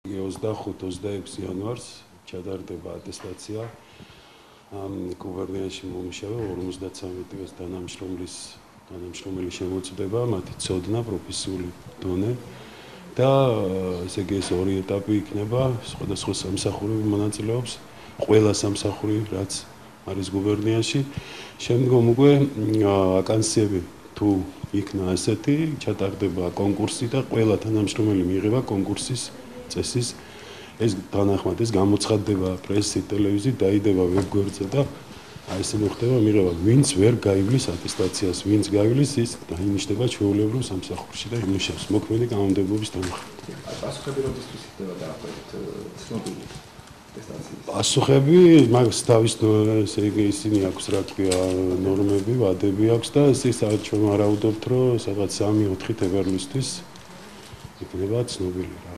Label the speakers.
Speaker 1: 25-26 იანვარს ჩატარდება ატესტაცია გუბერნიაში მომუშავე 53 დღის თანამშრომელი შემოწმდება, მათი ცოდნა, პროფესიული დონე და ესე იგი ეს ორი ეტაპი იქნება, სხვადასხვა სამსახურები მონაწილეობს, ყველა სამსახური, რაც არის გუბერნიაში. შემდგომ უკვე ვაკანსიები თუ იქნა ასეთი, ჩატარდება კონკურსი და ყველა თანამშრომელი მიიღება კონკურსის წესის ეს თანახმად ეს გამოცხადდება პრესით, ტელევიზიით, დაიდება ვებგვერდზე და აი ესე მოხდება მიღება, ვინც ვერ გაივლის ატესტაციას, ვინც გაივლის, ის დაინიშნება ჩვეულებრივ სამსახურში და იმუშავებს მოქმედი კანონმდებლობის თანახმად.
Speaker 2: პასუხები როდესაც ხდება დაახლოებით ცნობილი ატესტაციის?
Speaker 1: პასუხები მაგას თავის ესე იგი ისინი აქვს რა ქვია ნორმები, ვადები აქვს და ეს ჩვენ ვარაუდობთ, რომ სადღაც 3-4 თებერვლისთვის იქნება ცნობილი.